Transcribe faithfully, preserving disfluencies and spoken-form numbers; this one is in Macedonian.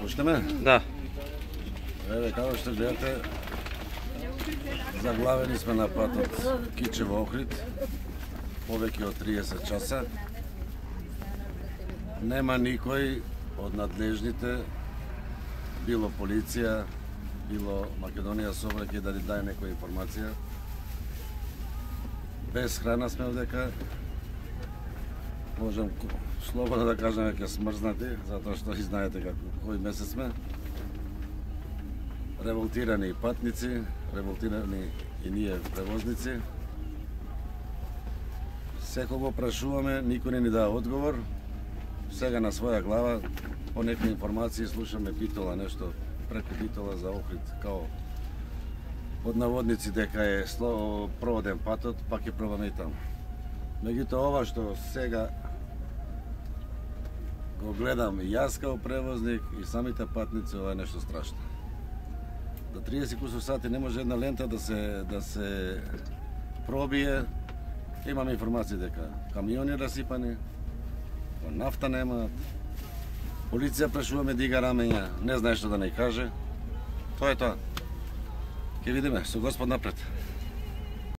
Почнеме? Да. Еве, како што гледате, заглавени сме на патот Кичево-Охрид, повеќе од триесет часа. Нема никој од надлежните, било полиција, било Македонија Собраќај да ни даде некоја информација. Без храна сме овдека. Можем слободно да кажеме ке смрзнати, затоа што и знаете како кој месец сме. Револтирани патници, револтирани и ние превозници. Секого прашуваме, никој не ни дава одговор. Сега на своја глава, по некои информации слушаме Битола, нешто преку Битола за Охрид, као под наводници дека е проводен патот, пак ќе пробаме и таму. Меѓутоа ова што сега го гледам и јас као превозник и самите патници, ова е нешто страшно. До триесет кусур сати не може една лента да се да се пробие. Имаме информации дека камиони расипани, нафта немаат. Полиција прашуваме дига рамења, не знае што да не каже. Тоа е тоа. Ќе видиме, со Господ напред.